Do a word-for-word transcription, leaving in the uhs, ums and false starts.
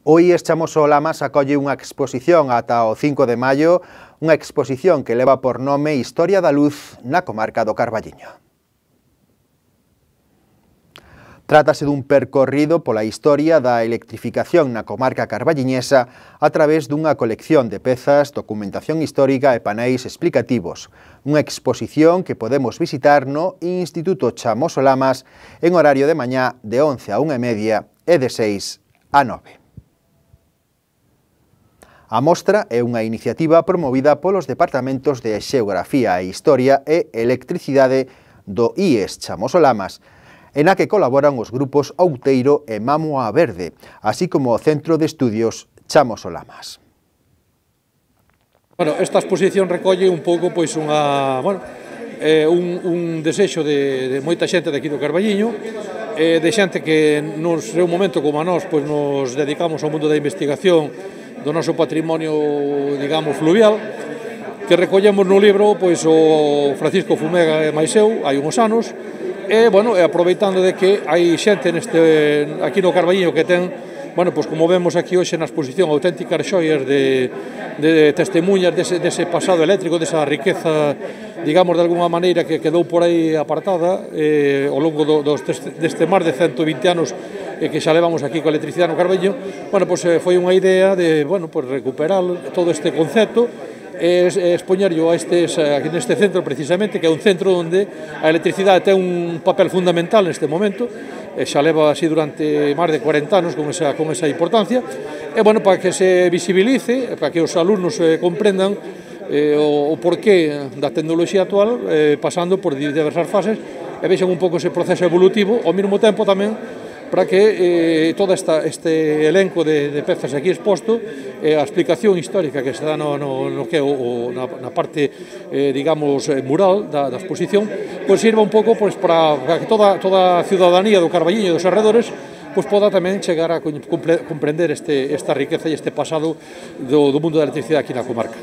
O I E S Chamoso Lamas acolle unha exposición ata o cinco de maio, unha exposición que leva por nome Historia da Luz na comarca do Carballiño. Trátase dun percorrido pola historia da electrificación na comarca carballiñesa a través dunha colección de pezas, documentación histórica e paneis explicativos. Unha exposición que podemos visitar no Instituto Chamoso Lamas en horario de mañá de once a unha e media e de seis a nove. A mostra é unha iniciativa promovida polos departamentos de Xeografía e Historia e Electricidade do I E S Chamoso Lamas, en a que colaboran os grupos Outeiro e Mamoa Verde, así como o Centro de Estudios Chamoso Lamas. Bueno, esta exposición recolle un pouco pois unha, bueno, eh, un, un desexo de, de moita xente de aquí do Carballiño, eh, de xente que nos seu momento como a nós pois nos dedicamos ao mundo da investigación do noso patrimonio, digamos, fluvial, que recollemos no libro pois o Francisco Fumega e máis eu, hai uns anos, e, bueno, e aproveitando de que hai xente neste, aquí no Carballiño que ten, bueno, pois como vemos aquí hoxe na exposición, auténticas xoias de, de testemunhas dese, dese pasado eléctrico, desa riqueza, digamos, de alguna maneira que quedou por aí apartada eh, ao longo do, dos, deste máis de cento vinte anos eh, que xa levamos aquí coa electricidade no Carballiño. Bueno, pois eh, foi unha idea de, bueno, pois recuperar todo este concepto e expoñerlo a estes, aquí neste centro precisamente, que é un centro onde a electricidade ten un papel fundamental neste momento, e xa leva así durante máis de cuarenta anos con esa, con esa importancia, e bueno, para que se visibilice, para que os alumnos eh, comprendan eh, o, o porqué da tecnoloxía actual, eh, pasando por diversas fases, e vexan un pouco ese proceso evolutivo, ao mesmo tempo tamén para que eh, todo esta, este elenco de, de pezas aquí exposto, eh, a explicación histórica que se dá no, no, no que o, o, na, na parte, eh, digamos, mural da, da exposición, pois sirva un pouco pois, para, para que toda, toda a ciudadanía do Carballiño e dos arredores pois poda tamén chegar a comprender este, esta riqueza e este pasado do, do mundo da electricidade aquí na comarca.